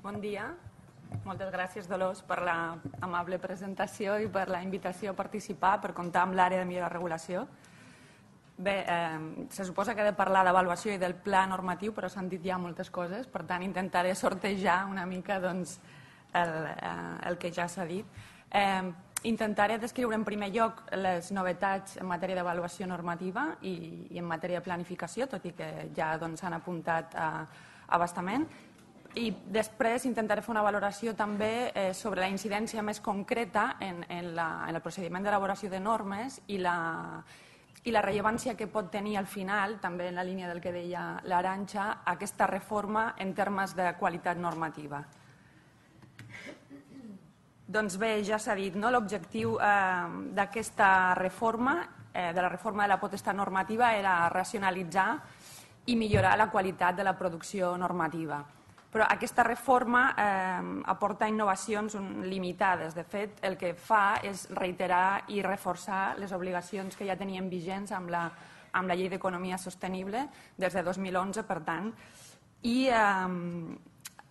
Bon dia. Moltes gràcies, Dolors, per l'amable presentació i per la invitació a participar, per comptar amb l'àrea de millora de regulació. Bé, se suposa que he de parlar d'avaluació i del pla normatiu, però s'han dit ja moltes coses, per tant intentaré sortejar una mica el que ja s'ha dit. Intentaré descriure en primer lloc les novetats en matèria d'avaluació normativa i en matèria de planificació, tot i que ja s'han apuntat a bastament. I després intentaré fer una valoració també sobre la incidència més concreta en el procediment d'elaboració de normes i la rellevància que pot tenir al final, també en la línia del que deia l'Arantxa, aquesta reforma en termes de qualitat normativa. Doncs bé, ja s'ha dit, l'objectiu d'aquesta reforma, de la reforma de la potestat normativa, era racionalitzar i millorar la qualitat de la producció normativa. Però aquesta reforma aporta innovacions limitades. De fet, el que fa és reiterar i reforçar les obligacions que ja tenien vigents amb la Llei d'Economia Sostenible des de 2011, per tant. I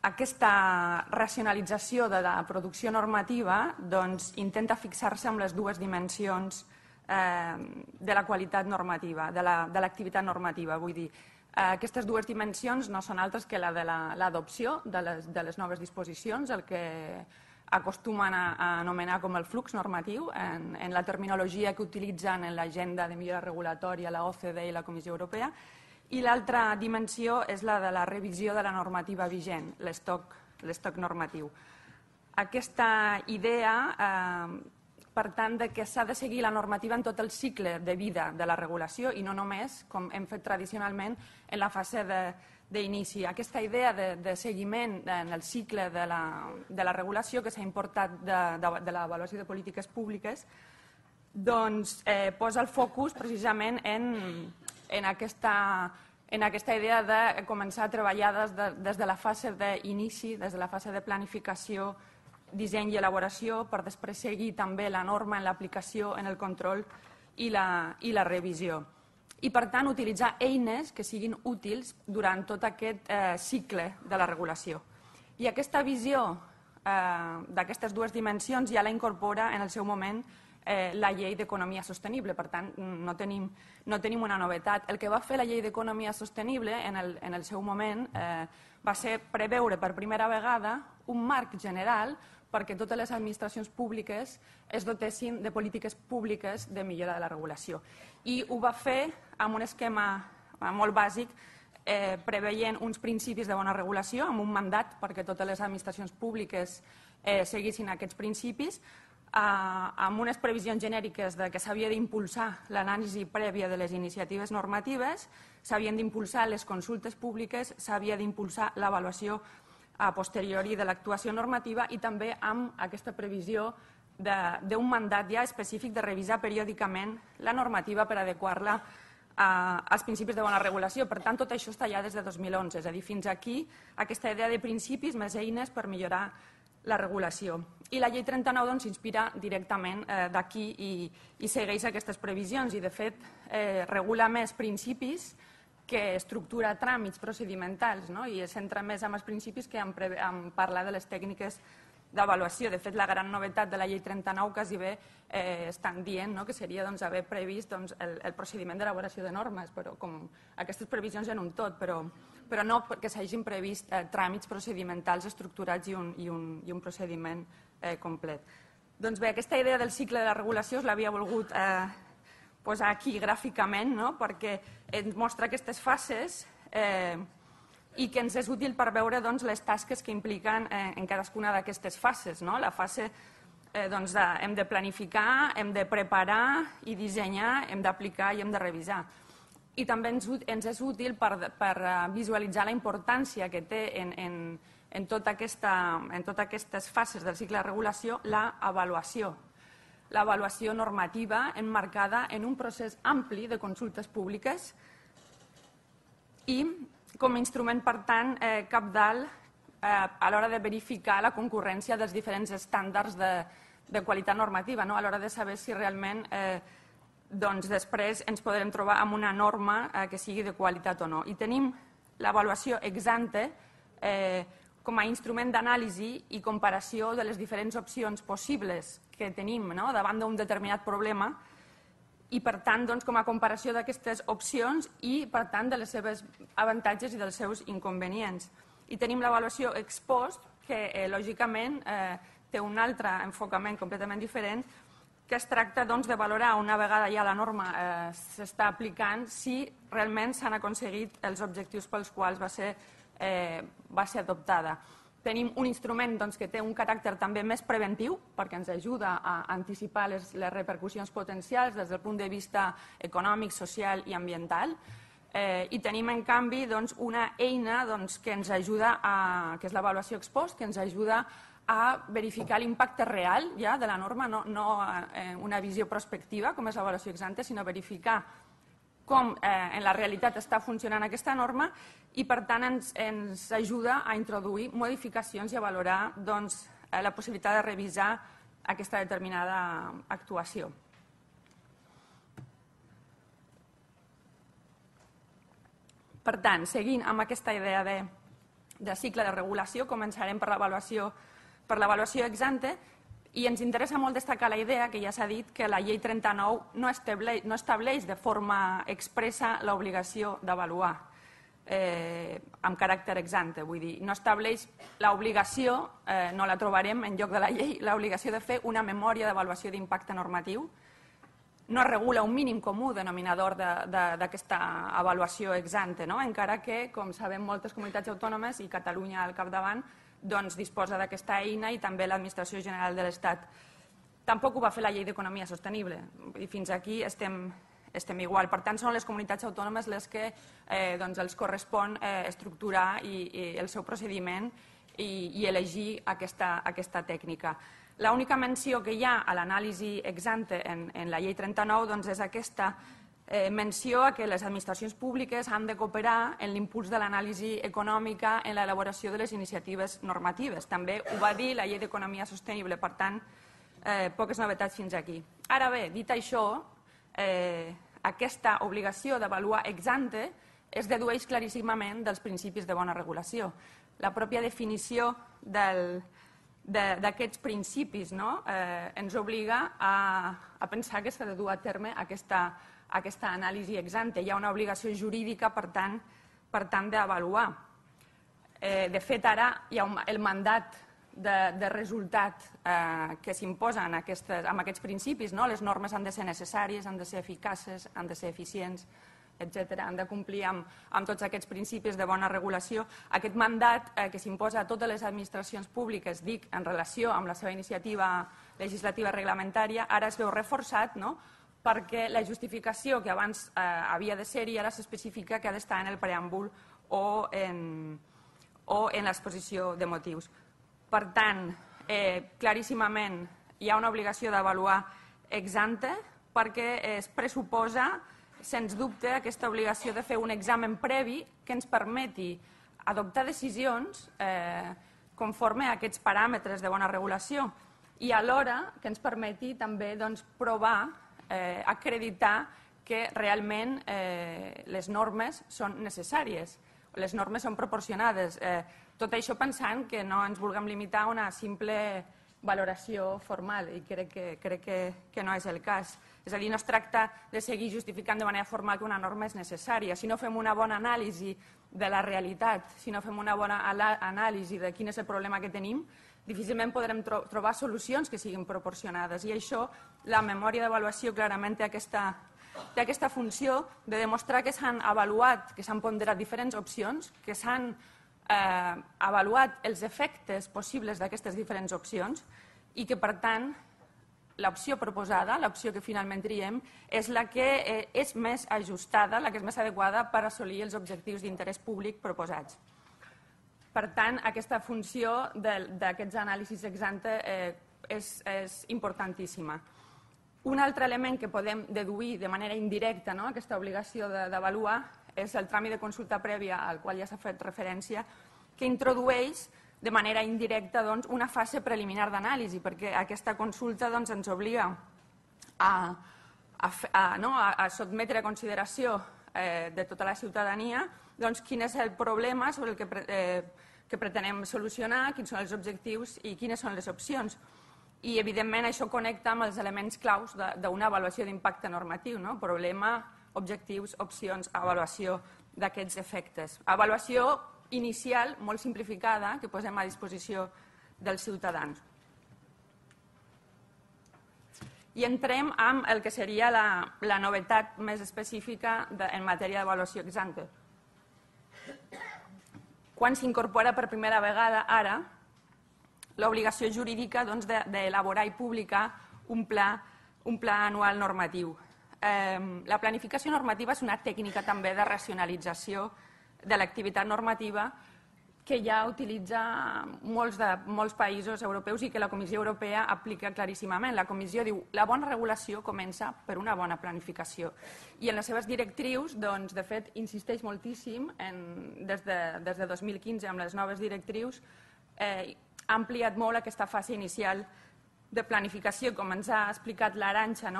aquesta racionalització de la producció normativa intenta fixar-se amb les dues dimensions de la qualitat normativa, de l'activitat normativa, vull dir. Aquestes dues dimensions no són altres que la de l'adopció de les noves disposicions, el que acostumen a anomenar com el flux normatiu, en la terminologia que utilitzen en l'agenda de millora regulatòria, la OCDE i la Comissió Europea, i l'altra dimensió és la de la revisió de la normativa vigent, l'estoc normatiu. Aquesta idea, per tant, que s'ha de seguir la normativa en tot el cicle de vida de la regulació i no només, com hem fet tradicionalment, en la fase d'inici. Aquesta idea de seguiment en el cicle de la regulació que s'ha importat de l'avaluació de polítiques públiques posa el focus precisament en aquesta idea de començar a treballar des de la fase d'inici, des de la fase de planificació, disseny i elaboració, per després seguir també la norma en l'aplicació, en el control i la revisió. I, per tant, utilitzar eines que siguin útils durant tot aquest cicle de la regulació. I aquesta visió d'aquestes dues dimensions ja la incorpora en el seu moment la Llei d'Economia Sostenible. Per tant, no tenim una novetat. El que va fer la Llei d'Economia Sostenible en el seu moment va ser preveure per primera vegada un marc general perquè totes les administracions públiques es dotessin de polítiques públiques de millora de la regulació. I ho va fer amb un esquema molt bàsic, preveient uns principis de bona regulació, amb un mandat perquè totes les administracions públiques seguissin aquests principis, amb unes previsions genèriques que s'havia d'impulsar l'anàlisi prèvia de les iniciatives normatives, s'havien d'impulsar les consultes públiques, s'havia d'impulsar l'avaluació a posteriori de l'actuació normativa i també amb aquesta previsió d'un mandat ja específic de revisar periòdicament la normativa per adequar-la als principis de bona regulació. Per tant, tot això està ja des de 2011, és a dir, fins aquí aquesta idea de principis més eines per millorar la regulació. I la Llei 39 s'inspira directament d'aquí i segueix aquestes previsions i, de fet, regula més principis que estructura tràmits procedimentals i es centra més en els principis que en parlar de les tècniques d'avaluació. De fet, la gran novetat de la Llei 39 quasi bé estan dient que seria haver previst el procediment d'elaboració de normes, però com aquestes previsions en un tot, però no que s'hagin previst tràmits procedimentals estructurats i un procediment complet. Doncs bé, aquesta idea del cicle de la regulació us l'havia volgut posar aquí gràficament perquè ens mostra aquestes fases i que ens és útil per veure les tasques que impliquen en cadascuna d'aquestes fases. La fase hem de planificar, hem de preparar i dissenyar, hem d'aplicar i hem de revisar. I també ens és útil per visualitzar la importància que té en totes aquestes fases del cicle de regulació l'avaluació. L'avaluació normativa emmarcada en un procés ampli de consultes públiques i com a instrument, per tant, cabdal a l'hora de verificar la concurrència dels diferents estàndards de qualitat normativa, a l'hora de saber si realment després ens podrem trobar amb una norma que sigui de qualitat o no. I tenim l'avaluació ex ante com a instrument d'anàlisi i comparació de les diferents opcions possibles que tenim davant d'un determinat problema i, per tant, com a comparació d'aquestes opcions i, per tant, de les seves avantatges i dels seus inconvenients. I tenim l'avaluació ex post, que, lògicament, té un altre enfocament completament diferent, que es tracta de valorar, una vegada ja la norma s'està aplicant, si realment s'han aconseguit els objectius pels quals va ser adoptada. Tenim un instrument que té un caràcter també més preventiu, perquè ens ajuda a anticipar les repercussions potencials des del punt de vista econòmic, social i ambiental, i tenim, en canvi, una eina que ens ajuda, que és l'avaluació ex post, que ens ajuda a verificar l'impacte real de la norma, no una visió prospectiva, com és l'avaluació ex ante, sinó verificar com en la realitat està funcionant aquesta norma i, per tant, ens ajuda a introduir modificacions i a valorar la possibilitat de revisar aquesta determinada actuació. Per tant, seguint amb aquesta idea de cicle de regulació, començarem per l'avaluació ex ante, i ens interessa molt destacar la idea, que ja s'ha dit, que la llei 39 no estableix de forma expressa l'obligació d'avaluar amb caràcter ex ante, vull dir, no estableix l'obligació, no la trobarem en lloc de la llei, l'obligació de fer una memòria d'avaluació d'impacte normatiu, no regula un mínim comú denominador d'aquesta avaluació ex ante, encara que, com sabem, moltes comunitats autònomes i Catalunya al capdavant disposa d'aquesta eina i també l'Administració General de l'Estat. Tampoc ho va fer la Llei d'Economia Sostenible i fins aquí estem igual. Per tant, són les comunitats autònomes les que els correspon estructurar el seu procediment i elegir aquesta tècnica. L'única menció que hi ha a l'anàlisi ex ante en la Llei 39 és aquesta menció a que les administracions públiques han de cooperar en l'impuls de l'anàlisi econòmica en l'elaboració de les iniciatives normatives. També ho va dir la Llei d'Economia Sostenible, per tant, poques novetats fins aquí. Ara bé, dit això, aquesta obligació d'avaluar ex ante es dedueix claríssimament dels principis de bona regulació. La pròpia definició d'aquests principis ens obliga a pensar que s'ha de dur a terme aquesta anàlisi ex ante. Hi ha una obligació jurídica, per tant, d'avaluar. De fet, ara hi ha el mandat de resultat que s'imposa amb aquests principis. Les normes han de ser necessàries, han de ser eficaces, han de ser eficients, etc. Han de complir amb tots aquests principis de bona regulació. Aquest mandat que s'imposa a totes les administracions públiques, dic, en relació amb la seva iniciativa legislativa reglamentària, ara es veu reforçat, perquè la justificació que abans havia de ser-hi ara s'especifica que ha d'estar en el preàmbul o en l'exposició de motius. Per tant, claríssimament hi ha una obligació d'avaluar ex ante perquè es pressuposa, sens dubte, aquesta obligació de fer un examen previ que ens permeti adoptar decisions conforme a aquests paràmetres de bona regulació i alhora que ens permeti també provar, acreditar que realment les normes són necessàries, les normes són proporcionades. Tot això pensant que no ens vulguem limitar a una simple valoració formal i crec que no és el cas. És a dir, no es tracta de seguir justificant de manera formal que una norma és necessària. Si no fem una bona anàlisi de la realitat, si no fem una bona anàlisi de quin és el problema que tenim, difícilment podrem trobar solucions que siguin proporcionades. I això, la memòria d'avaluació clarament té aquesta funció de demostrar que s'han avaluat, que s'han ponderat diferents opcions, que s'han avaluat els efectes possibles d'aquestes diferents opcions i que, per tant, l'opció proposada, l'opció que finalment triem, és la que és més ajustada, la que és més adequada per assolir els objectius d'interès públic proposats. Per tant, aquesta funció d'aquests anàlisis ex ante és importantíssima. Un altre element que podem deduir de manera indirecta aquesta obligació d'avaluar és el tràmit de consulta prèvia al qual ja s'ha fet referència, que introdueix de manera indirecta una fase preliminar d'anàlisi, perquè aquesta consulta ens obliga a sotmetre a consideració de tota la ciutadania quin és el problema sobre el que que pretenem solucionar, quins són els objectius i quines són les opcions. I, evidentment, això connecta amb els elements claus d'una avaluació d'impacte normatiu, no? Problema, objectius, opcions, avaluació d'aquests efectes. Avaluació inicial, molt simplificada, que posem a disposició dels ciutadans. I entrem amb el que seria la novetat més específica en matèria d'avaluació ex ante. Quan s'incorpora per primera vegada ara l'obligació jurídica d'elaborar i publicar un pla anual normatiu. La planificació normativa és una tècnica també de racionalització de l'activitat normativa que ja utilitza molts països europeus i que la Comissió Europea aplica claríssimament. La Comissió diu la bona regulació comença per una bona planificació. I en les seves directrius, de fet, insisteix moltíssim, des de 2015 amb les noves directrius, ha ampliat molt aquesta fase inicial de planificació, com ens ha explicat l'Arantxa,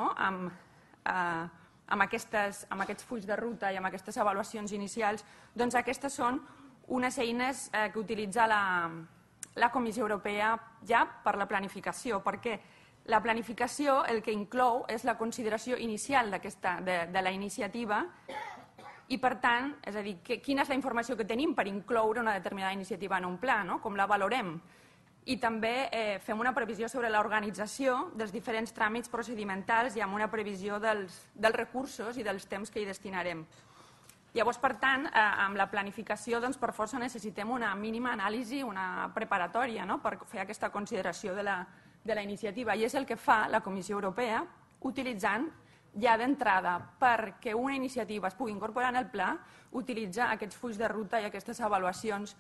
amb aquests fulls de ruta i amb aquestes avaluacions inicials. Doncs aquestes són unes eines que utilitza la Comissió Europea ja per la planificació, perquè la planificació el que inclou és la consideració inicial de la iniciativa i, per tant, és a dir, quina és la informació que tenim per incloure una determinada iniciativa en un pla, com la valorem. I també fem una previsió sobre l'organització dels diferents tràmits procedimentals i amb una previsió dels recursos i dels temps que hi destinarem. Llavors, per tant, amb la planificació, per força necessitem una mínima anàlisi, una preparatòria, per fer aquesta consideració de la iniciativa. I és el que fa la Comissió Europea, utilitzant ja d'entrada perquè una iniciativa es pugui incorporar en el pla, utilitza aquests fulls de ruta i aquestes avaluacions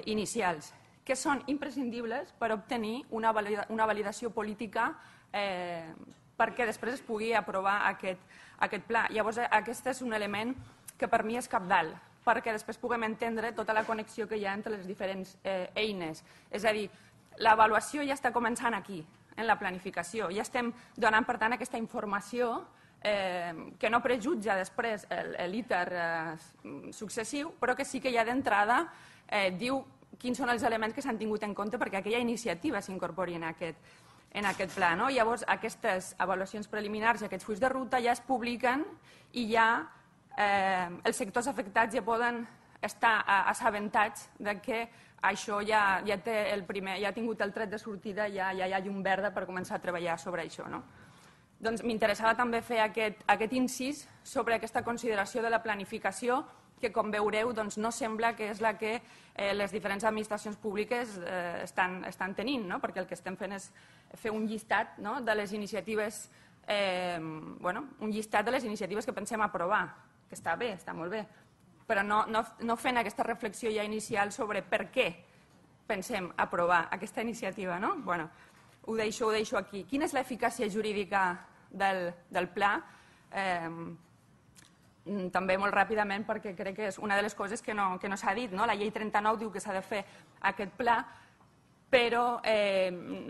inicials, que són imprescindibles per obtenir una validació política perquè després es pugui aprovar aquest pla. Llavors, aquest és un element que per mi és cabdal, perquè després puguem entendre tota la connexió que hi ha entre les diferents eines. És a dir, l'avaluació ja està començant aquí, en la planificació. Ja estem donant, per tant, aquesta informació que no prejutja després l'ITER successiu, però que sí que ja d'entrada diu quins són els elements que s'han tingut en compte perquè aquella iniciativa s'incorpori en aquest pla. Llavors, aquestes avaluacions preliminars i aquests fulls de ruta ja es publiquen i ja els sectors afectats ja poden estar assabentats que això ja ha tingut el tret de sortida, ja hi ha llum verda per començar a treballar sobre això. Doncs m'interessava també fer aquest incís sobre aquesta consideració de la planificació que, com veureu, no sembla que és la que les diferents administracions públiques estan tenint, perquè el que estem fent és fer un llistat de les iniciatives, un llistat de les iniciatives que pensem aprovar, que està bé, està molt bé, però no fent aquesta reflexió ja inicial sobre per què pensem aprovar aquesta iniciativa. Ho deixo aquí. Quina és l'eficàcia jurídica del pla? També molt ràpidament, perquè crec que és una de les coses que no s'ha dit. La llei 39 diu que s'ha de fer aquest pla, però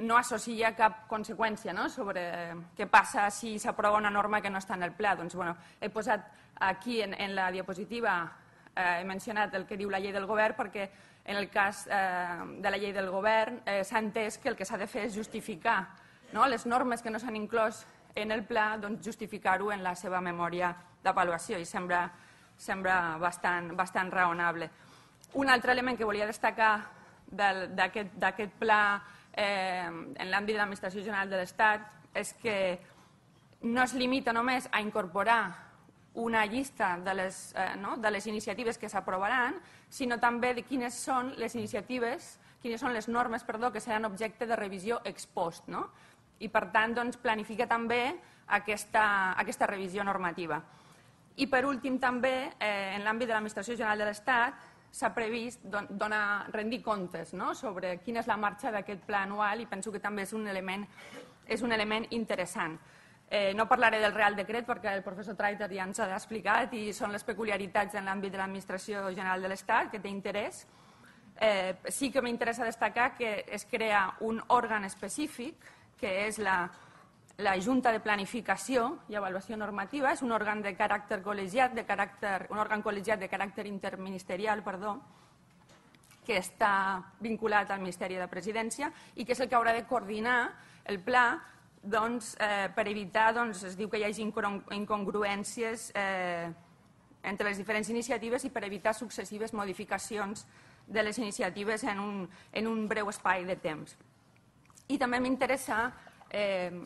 no associa cap conseqüència sobre què passa si s'aprova una norma que no està en el pla. Doncs he posat aquí en la diapositiva, he mencionat el que diu la llei del govern, perquè en el cas de la llei del govern s'ha entès que el que s'ha de fer és justificar les normes que no s'han inclòs en el pla, justificar-ho en la seva memòria d'avaluació, i sembla bastant raonable. Un altre element que volia destacar d'aquest pla en l'àmbit de l'Administració General de l'Estat és que no es limita només a incorporar una llista de les iniciatives que s'aprovaran, sinó també de quines són les iniciatives, quines són les normes, que seran objecte de revisió ex post. I, per tant, planifica també aquesta revisió normativa. I, per últim, també, en l'àmbit de l'Administració General de l'Estat, s'ha previst rendir comptes sobre quina és la marxa d'aquest pla anual, i penso que també és un element interessant. No parlaré del Real Decret perquè el professor Treiter ja ens ha explicat i són les peculiaritats en l'àmbit de l'Administració General de l'Estat que té interès. Sí que m'interessa destacar que es crea un òrgan específic, que és la Junta de Planificació i Avaluació Normativa. És un òrgan de caràcter col·legiat, un òrgan col·legiat de caràcter interministerial, que està vinculat al Ministeri de Presidència i que és el que haurà de coordinar el pla per evitar, es diu que hi hagi incongruències entre les diferents iniciatives i per evitar successives modificacions de les iniciatives en un breu espai de temps. I també m'interessa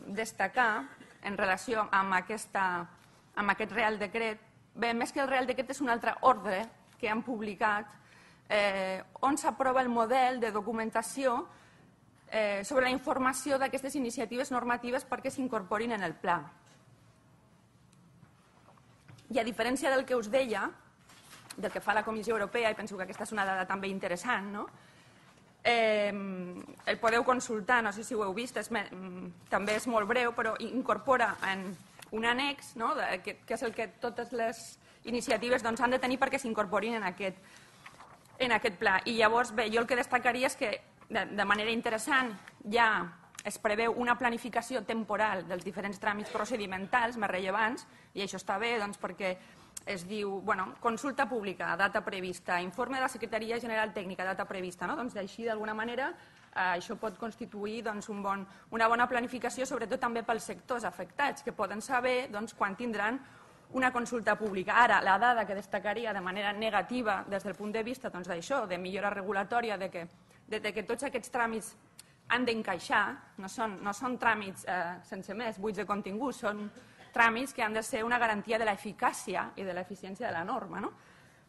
destacar, en relació amb aquest Real Decret, bé, més que el Real Decret és un altre ordre que han publicat on s'aprova el model de documentació sobre la informació d'aquestes iniciatives normatives perquè s'incorporin en el pla. I a diferència del que us deia, del que fa la Comissió Europea, i penso que aquesta és una dada també interessant, no? El podeu consultar, no sé si ho heu vist, també és molt breu, però incorpora en un annex, que és el que totes les iniciatives han de tenir perquè s'incorporin en aquest pla. I llavors, bé, jo el que destacaria és que de manera interessant ja es preveu una planificació temporal dels diferents tràmits procedimentals més rellevants, i això està bé perquè es diu consulta pública, data prevista, informe de la Secretaria General Tècnica, data prevista. Doncs així, d'alguna manera, això pot constituir una bona planificació, sobretot també pels sectors afectats, que poden saber quan tindran una consulta pública. Ara, la dada que destacaria de manera negativa des del punt de vista d'això, de millora regulatòria, de que tots aquests tràmits han d'encaixar, no són tràmits sense més, buits de contingut, són tràmits que han de ser una garantia de l'eficàcia i de l'eficiència de la norma.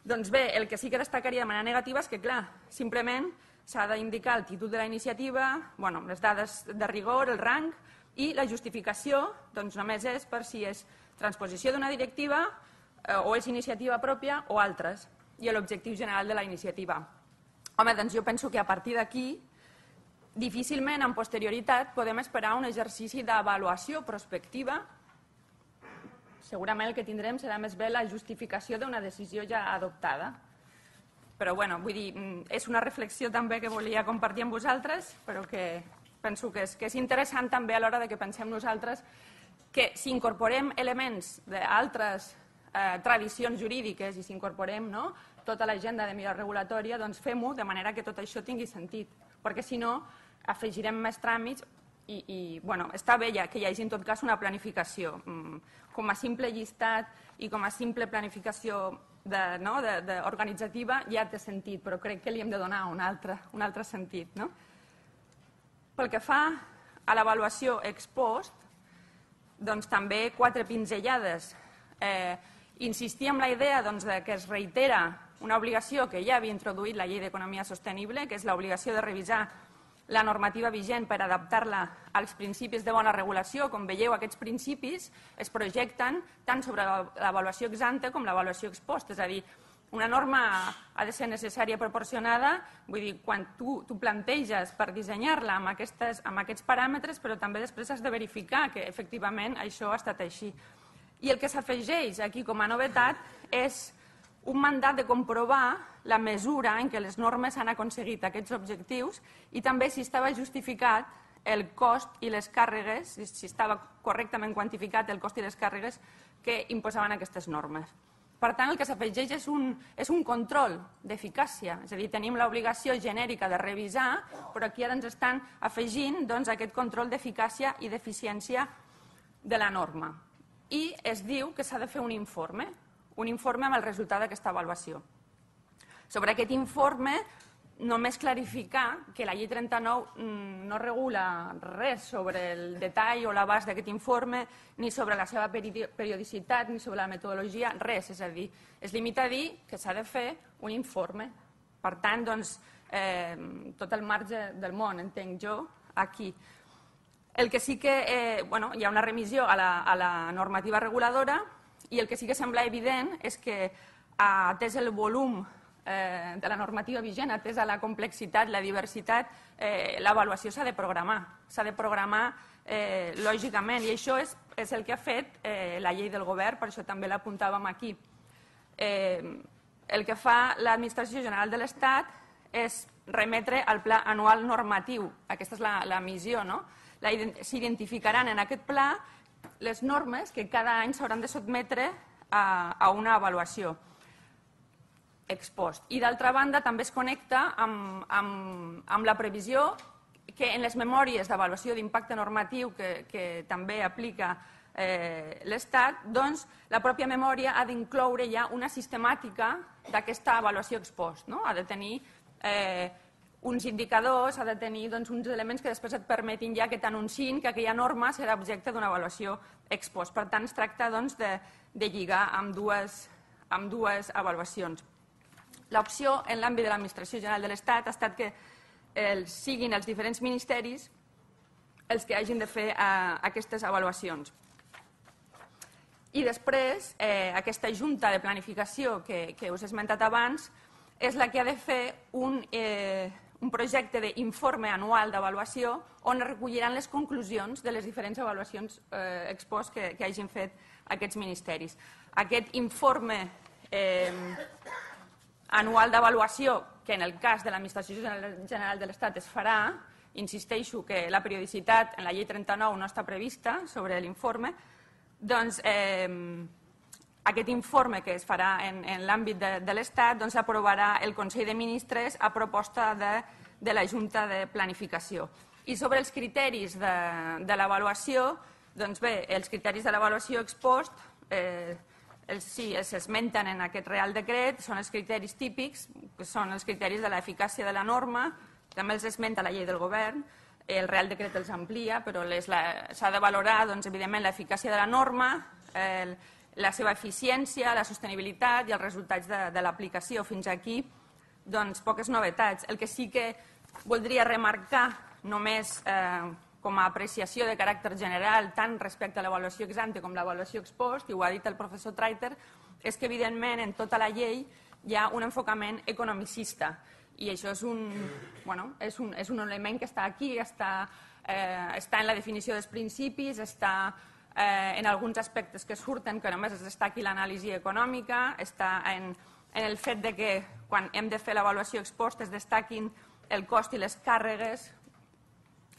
Doncs bé, el que sí que destacaria de manera negativa és que, clar, simplement s'ha d'indicar el títol de la iniciativa, les dades de rigor, el rang, i la justificació només és per si és transposició d'una directiva o és iniciativa pròpia o altres, i l'objectiu general de la iniciativa. Home, doncs jo penso que a partir d'aquí difícilment amb posterioritat podem esperar un exercici d'avaluació prospectiva. Segurament el que tindrem serà més bé la justificació d'una decisió ja adoptada. Però, vull dir, és una reflexió també que volia compartir amb vosaltres, però que penso que és interessant també a l'hora que pensem nosaltres que si incorporem elements d'altres tradicions jurídiques i si incorporem tota l'agenda de millora regulatòria, doncs fem-ho de manera que tot això tingui sentit, perquè si no afegirem més tràmits i està bé que hi hagi en tot cas una planificació. Com a simple llistat i com a simple planificació organitzativa ja té sentit, però crec que li hem de donar un altre sentit. Pel que fa a l'avaluació ex post, doncs també 4 pinzellades. Insistir en la idea que es reitera una obligació que ja havia introduït la Llei d'Economia Sostenible, que és l'obligació de revisar la normativa vigent per adaptar-la als principis de bona regulació. Com veieu, aquests principis es projecten tant sobre l'avaluació ex ante com l'avaluació ex post, és a dir, una norma ha de ser necessària proporcionada, vull dir, quan tu planteges per dissenyar-la amb aquests paràmetres, però també després has de verificar que efectivament això ha estat així. I el que s'afegeix aquí com a novetat és un mandat de comprovar la mesura en què les normes han aconseguit aquests objectius i també si estava justificat el cost i les càrregues, si estava correctament quantificat el cost i les càrregues que imposaven aquestes normes. Per tant, el que s'afegeix és un control d'eficàcia, és a dir, tenim l'obligació genèrica de revisar, però aquí ara ens estan afegint aquest control d'eficàcia i d'eficiència de la norma. I es diu que s'ha de fer un informe amb el resultat d'aquesta avaluació. Sobre aquest informe, només clarificar que la Llei 39 no regula res sobre el detall o l'abast d'aquest informe, ni sobre la seva periodicitat, ni sobre la metodologia, res. És a dir, es limita a dir que s'ha de fer un informe. Per tant, doncs, tot el marge del món, entenc jo, aquí. El que sí que hi ha una remissió a la normativa reguladora i el que sí que sembla evident és que, atès el volum de la normativa vigent, atesa la complexitat, la diversitat, l'avaluació s'ha de programar. S'ha de programar lògicament i això és el que ha fet la llei del govern, per això també l'apuntàvem aquí. El que fa l'Administració General de l'Estat és remetre al Pla Anual Normatiu. Aquesta és la missió, no? S'identificaran en aquest pla les normes que cada any s'hauran de sotmetre a una avaluació. ex post. I d'altra banda també es connecta amb la previsió que en les memòries d'avaluació d'impacte normatiu que també aplica l'Estat, doncs la pròpia memòria ha d'incloure ja una sistemàtica d'aquesta avaluació ex post. Ha de tenir uns indicadors, ha de tenir uns elements que després et permetin ja que t'anunciïn que aquella norma serà objecte d'una avaluació ex post. Per tant, es tracta de lligar amb dues avaluacions. L'opció en l'àmbit de l'Administració General de l'Estat ha estat que siguin els diferents ministeris els que hagin de fer aquestes avaluacions. I després, aquesta Junta de Planificació que us he esmentat abans és la que ha de fer un projecte d'informe anual d'avaluació on es recolliran les conclusions de les diferents avaluacions ex post que hagin fet aquests ministeris. Aquest informe anual d'avaluació, que en el cas de l'Administració General de l'Estat es farà, insisteixo que la periodicitat en la llei 39 no està prevista sobre l'informe, doncs aquest informe que es farà en l'àmbit de l'Estat l'aprovarà el Consell de Ministres a proposta de la Junta de Planificació. I sobre els criteris de l'avaluació, doncs bé, els criteris de l'avaluació ex post s'esmenten en aquest Real Decret, són els criteris típics, que són els criteris de l'eficàcia de la norma, també els esmenta la llei del govern, el Real Decret els amplia, però s'ha de valorar, evidentment, l'eficàcia de la norma, la seva eficiència, la sostenibilitat i els resultats de l'aplicació. Fins aquí, poques novetats. El que sí que voldria remarcar, només com a apreciació de caràcter general, tant respecte a l'avaluació ex ante com l'avaluació ex post, i ho ha dit el professor Treiter, és que, evidentment, en tota la llei hi ha un enfocament economicista. I això és un element que està aquí, està en la definició dels principis, està en alguns aspectes que surten, que només es destaqui l'anàlisi econòmica, està en el fet que quan hem de fer l'avaluació ex post es destaquin el cost i les càrregues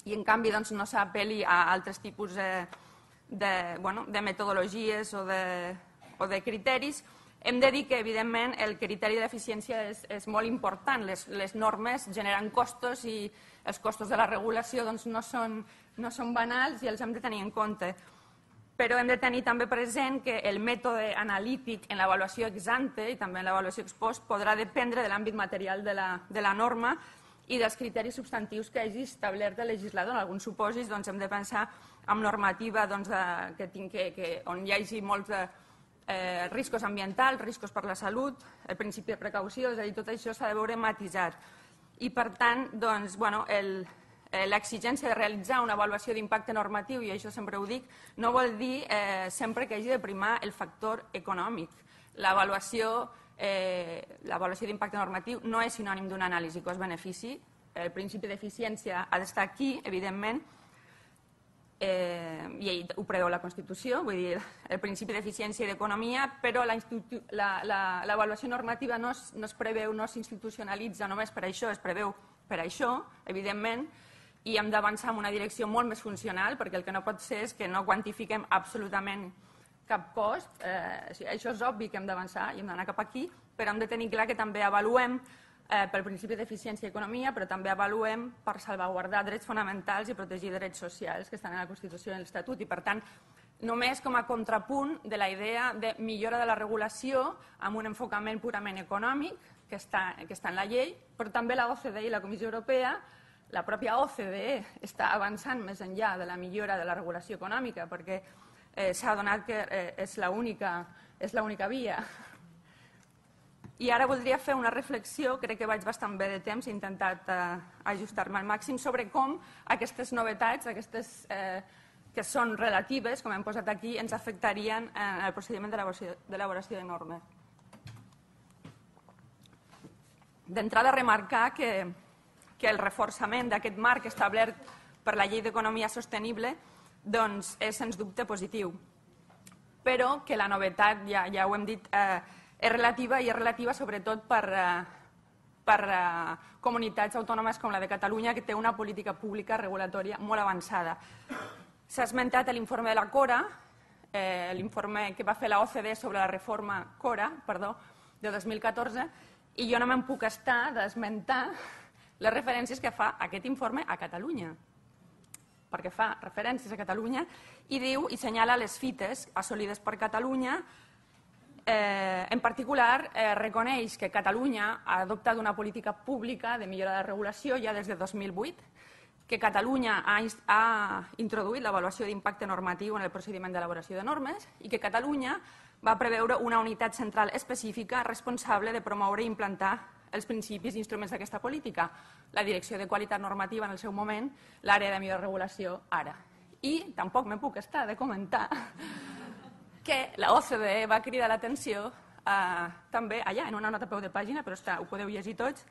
i en canvi no s'apel·li a altres tipus de metodologies o de criteris. Hem de dir que, evidentment, el criteri d'eficiència és molt important. Les normes generen costos i els costos de la regulació no són banals i els hem de tenir en compte. Però hem de tenir també present que el mètode analític en l'avaluació ex ante i també en l'avaluació ex post podrà dependre de l'àmbit material de la norma i dels criteris substantius que hagi establert el legislador. En alguns supòsits hem de pensar en normativa on hi hagi molts riscos ambientals, riscos per la salut, el principi de precaució, és a dir, tot això s'ha de veure matisat. I, per tant, l'exigència de realitzar una avaluació d'impacte normatiu, i això sempre ho dic, no vol dir sempre que hagi de primar el factor econòmic. L'avaluació d'impacte normatiu no és sinònim d'una anàlisi cost-benefici. El principi d'eficiència ha d'estar aquí, evidentment, i ho preveu la Constitució, vull dir, el principi d'eficiència i d'economia, però l'avaluació normativa no es preveu, no s'institucionalitza només per això, es preveu per això, evidentment, i hem d'avançar en una direcció molt més funcional, perquè el que no pot ser és que no quantifiquem absolutament cap cost. Això és obvi que hem d'avançar i hem d'anar cap aquí, però hem de tenir clar que també avaluem pel principi d'eficiència i economia, però també avaluem per salvaguardar drets fonamentals i protegir drets socials que estan a la Constitució i a l'Estatut. I, per tant, només com a contrapunt de la idea de millora de la regulació amb un enfocament purament econòmic, que està en la llei, però també la OCDE i la Comissió Europea, la pròpia OCDE està avançant més enllà de la millora de la regulació econòmica, perquè s'ha adonat que és l'única via. I ara voldria fer una reflexió, crec que vaig bastant bé de temps, he intentat ajustar-me al màxim, sobre com aquestes novetats, aquestes que són relatives, com hem posat aquí, ens afectarien en el procediment d'elaboració de normes. D'entrada, remarcar que el reforçament d'aquest marc establert per la Llei d'Economia Sostenible és sens dubte positiu, però que la novetat, ja ho hem dit, és relativa i és relativa sobretot per comunitats autònomes com la de Catalunya, que té una política pública regulatòria molt avançada. S'ha esmentat l'informe de la CORA, l'informe que va fer la OCDE sobre la reforma CORA, de 2014, I jo no me'n puc estar d'esmentar les referències que fa aquest informe a Catalunya, perquè fa referències a Catalunya i diu i senyala les fites assolides per Catalunya. En particular, reconeix que Catalunya ha adoptat una política pública de millora de regulació ja des de 2008, que Catalunya ha introduït l'avaluació d'impacte normatiu en el procediment d'elaboració de normes i que Catalunya va preveure una unitat central específica responsable de promoure i implantar els principis i instruments d'aquesta política, la Direcció de Qualitat Normativa en el seu moment, l'àrea de millor regulació ara. I tampoc me puc estar de comentar que la OCDE va cridar l'atenció també allà, en una nota a peu de pàgina, però ho podeu llegir tots,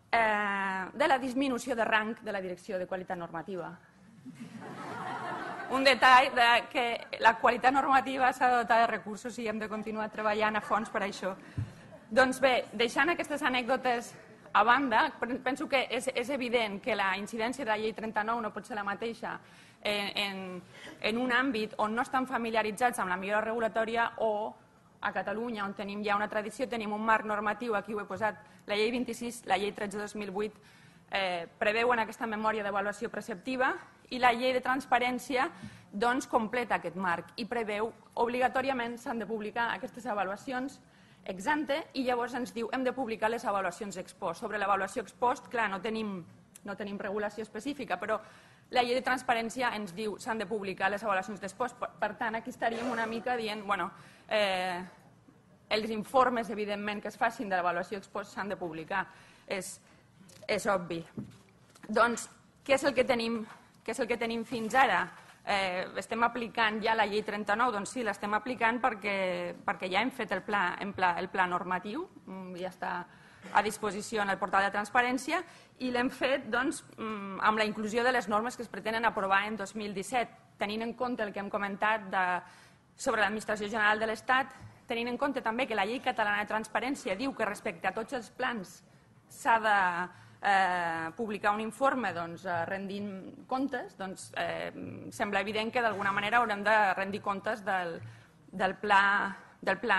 de la disminució de rang de la Direcció de Qualitat Normativa. Un detall que la qualitat normativa s'ha de dotar de recursos i hem de continuar treballant a fons per això. Doncs bé, deixant aquestes anècdotes a banda, penso que és evident que la incidència de la llei 39 no pot ser la mateixa en un àmbit on no estan familiaritzats amb la millora regulatòria o a Catalunya, on tenim ja una tradició, tenim un marc normatiu, aquí ho he posat, la llei 26, la llei 13/2008 preveuen aquesta memòria d'avaluació preceptiva i la llei de transparència doncs completa aquest marc i preveu obligatòriament s'han de publicar aquestes avaluacions ex ante i llavors ens diu hem de publicar les avaluacions ex post. Sobre l'avaluació ex post, clar, no tenim regulació específica, però la llei de transparència ens diu s'han de publicar les avaluacions ex post. Per tant, aquí estaríem una mica dient, bueno, els informes, evidentment, que es facin de l'avaluació ex post s'han de publicar. És obvi. Doncs, què és el que tenim fins ara? Estem aplicant ja la llei 39? Doncs sí, l'estem aplicant perquè ja hem fet el pla normatiu, ja està a disposició en el portal de transparència i l'hem fet amb la inclusió de les normes que es pretenen aprovar en 2017, tenint en compte el que hem comentat sobre l'Administració General de l'Estat, tenint en compte també que la llei catalana de transparència diu que respecte a tots els plans s'ha de publicar un informe rendint comptes, doncs sembla evident que d'alguna manera haurem de rendir comptes del pla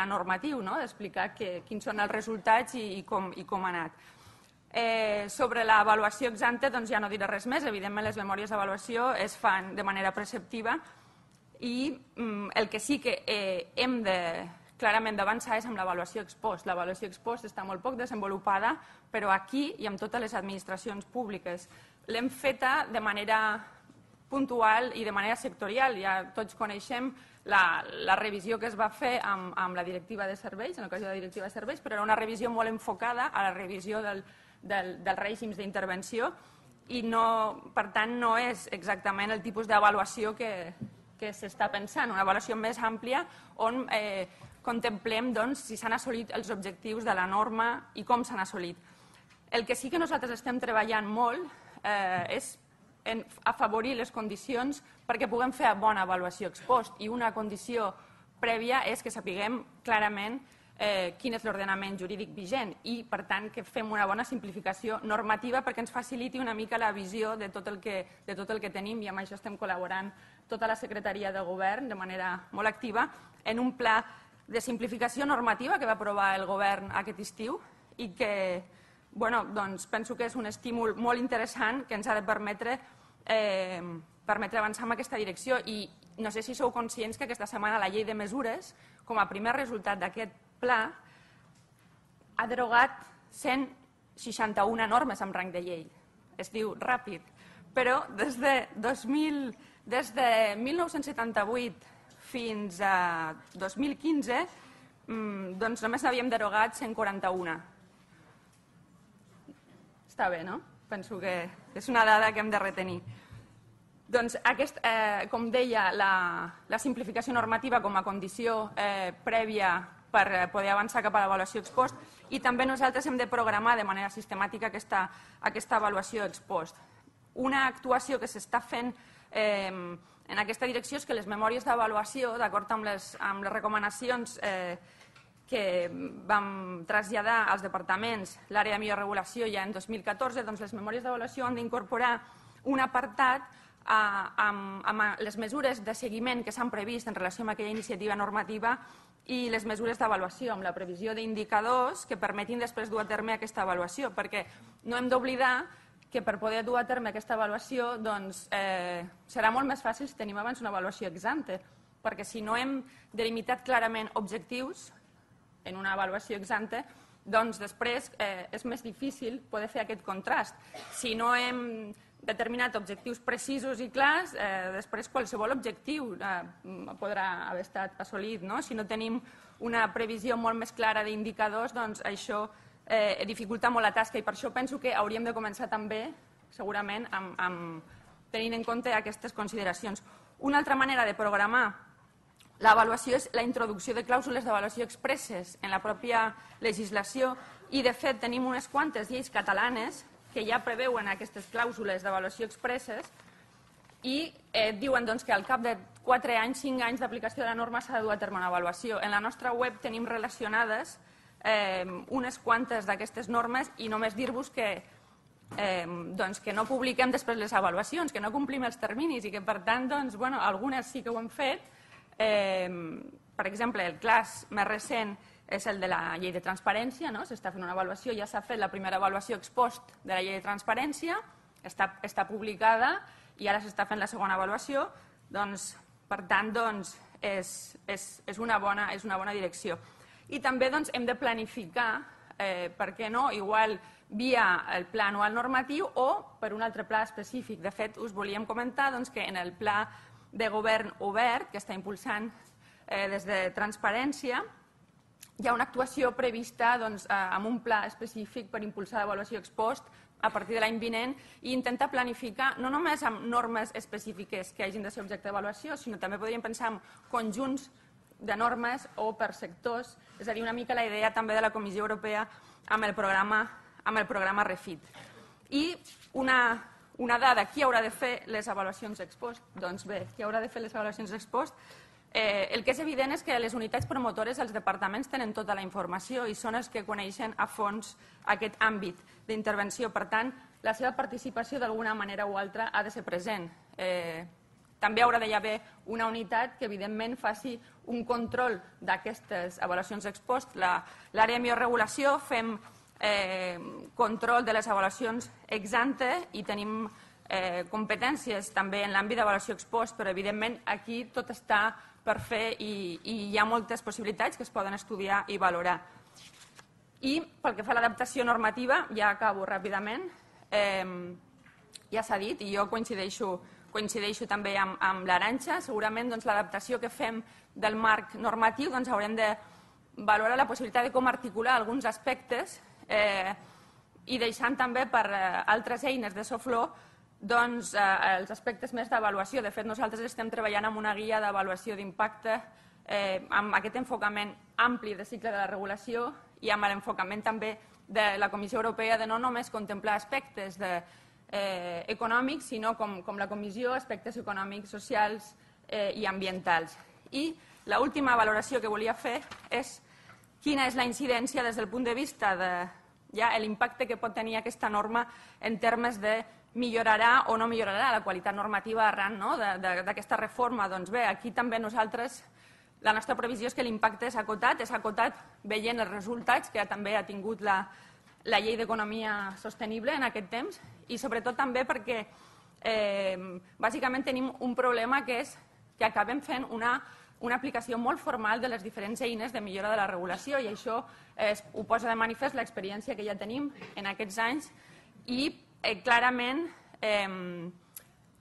normatiu, d'explicar quins són els resultats i com ha anat. Sobre l'avaluació ex ante doncs ja no diré res més, evidentment les memòries d'avaluació es fan de manera preceptiva i el que sí que hem de clarament d'avançar és amb l'avaluació ex post. L'avaluació ex post està molt poc desenvolupada, però aquí i amb totes les administracions públiques. L'hem feta de manera puntual i de manera sectorial. Ja tots coneixem la revisió que es va fer amb la directiva de serveis, en l'ocasió de la directiva de serveis, però era una revisió molt enfocada a la revisió dels règims d'intervenció i per tant no és exactament el tipus d'avaluació que s'està pensant, una avaluació més àmplia on contemplem si s'han assolit els objectius de la norma i com s'han assolit. El que sí que nosaltres estem treballant molt és en afavorir les condicions perquè puguem fer bona avaluació ex post i una condició prèvia és que sapiguem clarament quin és l'ordenament jurídic vigent i, per tant, que fem una bona simplificació normativa perquè ens faciliti una mica la visió de tot el que tenim i amb això estem col·laborant tota la Secretaria de Govern de manera molt activa en un pla de simplificació normativa que va aprovar el govern aquest estiu i que penso que és un estímul molt interessant que ens ha de permetre avançar en aquesta direcció i no sé si sou conscients que aquesta setmana la llei de mesures, com a primer resultat d'aquest pla, ha derogat 161 normes amb rang de llei. Es diu ràpid, però des de 1978 fins a 2015 doncs només n'havíem derogat 141. Està bé, no? Penso que és una dada que hem de retenir. Doncs, com deia, la simplificació normativa com a condició prèvia per poder avançar cap a l'avaluació ex post i també nosaltres hem de programar de manera sistemàtica aquesta avaluació ex post. Una actuació que s'està fent en aquesta direcció és que les memòries d'avaluació, d'acord amb les recomanacions que vam traslladar als departaments l'àrea de millor regulació ja en 2014, doncs les memòries d'avaluació han d'incorporar un apartat amb les mesures de seguiment que s'han previst en relació amb aquella iniciativa normativa i les mesures d'avaluació, amb la previsió d'indicadors que permetin després dur a terme aquesta avaluació, perquè no hem d'oblidar que per poder dur a terme aquesta avaluació serà molt més fàcil si tenim abans una avaluació ex ante, perquè si no hem delimitat clarament objectius en una avaluació ex ante, doncs després és més difícil poder fer aquest contrast. Si no hem determinat objectius precisos i clars, després qualsevol objectiu podrà haver estat assolit. Si no tenim una previsió molt més clara d'indicadors, doncs això dificulta molt la tasca i per això penso que hauríem de començar també, segurament, tenint en compte aquestes consideracions. Una altra manera de programar l'avaluació és la introducció de clàusules d'avaluació expresses en la pròpia legislació i, de fet, tenim unes quantes lleis catalanes que ja preveuen aquestes clàusules d'avaluació expresses i diuen que al cap de 4 anys, 5 anys d'aplicació de la norma s'ha de dur a terme una avaluació. En la nostra web tenim relacionades unes quantes d'aquestes normes i només dir-vos que no publiquem després les avaluacions, que no complim els terminis i que, per tant, algunes sí que ho hem fet. Per exemple, el cas més recent és el de la llei de transparència, s'està fent una avaluació, ja s'ha fet la primera avaluació ex post de la llei de transparència, està publicada i ara s'està fent la segona avaluació, per tant, és una bona direcció. I també hem de planificar, per què no, igual via el pla anual normatiu o per un altre pla específic. De fet, us volíem comentar que en el pla de govern obert que està impulsant des de Transparència hi ha una actuació prevista amb un pla específic per impulsar l'avaluació ex post a partir de l'any vinent i intentar planificar no només amb normes específiques que hagin de ser objecte d'avaluació, sinó també podríem pensar en conjunts de normes o per sectors, és a dir, una mica la idea també de la Comissió Europea amb el programa REFIT. I una dada, qui haurà de fer les avaluacions ex post? Doncs bé, qui haurà de fer les avaluacions ex post? El que és evident és que les unitats promotores dels departaments tenen tota la informació i són els que coneixen a fons aquest àmbit d'intervenció. Per tant, la seva participació d'alguna manera o altra ha de ser present. També haurà d'haver una unitat que, evidentment, faci un control d'aquestes avaluacions ex post. L'àrea de bioregulació fem control de les avaluacions ex ante i tenim competències també en l'àmbit d'avaluació ex post, però evidentment aquí tot està per fer i hi ha moltes possibilitats que es poden estudiar i valorar. I pel que fa a l'adaptació normativa, ja acabo ràpidament, ja s'ha dit i jo coincideixo també amb l'Arantxa, segurament l'adaptació que fem del marc normatiu haurem de valorar la possibilitat de com articular alguns aspectes i deixant també per altres eines de soft law els aspectes més d'avaluació. De fet, nosaltres estem treballant amb una guia d'avaluació d'impacte amb aquest enfocament ampli de cicle de la regulació i amb l'enfocament també de la Comissió Europea de no només contemplar aspectes econòmics, sinó com la Comissió, aspectes econòmics, socials i ambientals. I l'última valoració que volia fer és quina és la incidència des del punt de vista de l'impacte que pot tenir aquesta norma en termes de millorarà o no millorarà la qualitat normativa arran d'aquesta reforma. Doncs bé, aquí també nosaltres, la nostra previsió és que l'impacte és acotat veient els resultats que també ha tingut la llei d'economia sostenible en aquest temps i sobretot també perquè bàsicament tenim un problema que és que acabem fent una aplicació molt formal de les diferents eines de millora de la regulació i això ho posa de manifest l'experiència que ja tenim en aquests anys i clarament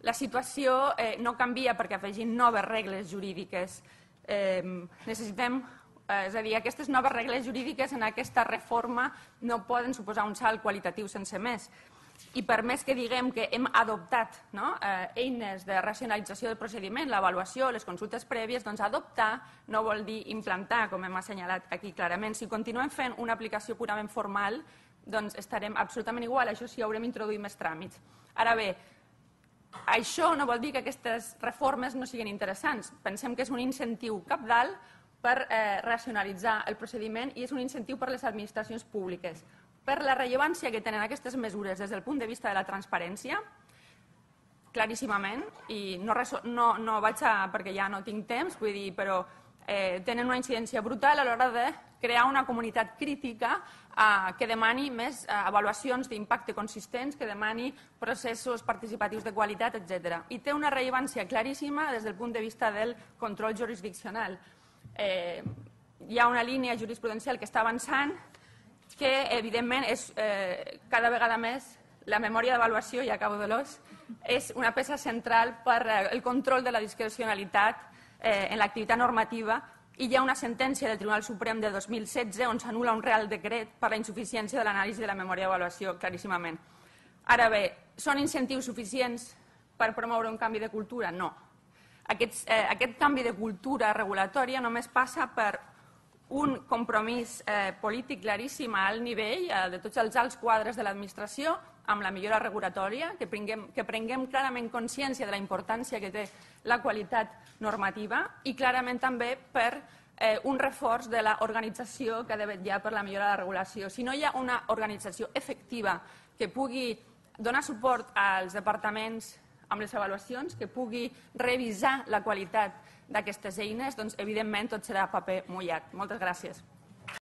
la situació no canvia perquè afegim noves regles jurídiques. Necessitem, és a dir, aquestes noves regles jurídiques en aquesta reforma no poden suposar un salt qualitatiu sense més. I per més que diguem que hem adoptat eines de racionalització del procediment, l'avaluació, les consultes prèvies, doncs adoptar no vol dir implantar, com hem assenyalat aquí clarament. Si continuem fent una aplicació purament formal, doncs estarem absolutament igual, això sí, haurem introduït més tràmits. Ara bé, això no vol dir que aquestes reformes no siguin interessants. Pensem que és un incentiu cabdal per racionalitzar el procediment i és un incentiu per a les administracions públiques. Per la rellevància que tenen aquestes mesures des del punt de vista de la transparència, claríssimament, i no vaig perquè ja no tinc temps, vull dir, però tenen una incidència brutal a l'hora de crear una comunitat crítica que demani més avaluacions d'impacte consistents, que demani processos participatius de qualitat, etc. I té una rellevància claríssima des del punt de vista del control jurisdiccional. Hi ha una línia jurisprudencial que està avançant que, evidentment, és cada vegada més la memòria d'avaluació, i acabo de l'os, és una peça central per el control de la discrecionalitat en l'activitat normativa, i hi ha una sentència del Tribunal Suprem de 2016 on s'anul·la un real decret per la insuficiència de l'anàlisi de la memòria d'avaluació, claríssimament. Ara bé, són incentius suficients per promoure un canvi de cultura? No. Aquest canvi de cultura regulatòria només passa per un compromís polític claríssim a alt nivell de tots els alts quadres de l'administració amb la millora regulatòria, que prenguem clarament consciència de la importància que té la qualitat normativa i clarament també per un reforç de l'organització que ha de vetllar per la millora de la regulació. Si no hi ha una organització efectiva que pugui donar suport als departaments amb les avaluacions, que pugui revisar la qualitat d'aquestes eines, doncs evidentment tot serà paper mullat. Moltes gràcies.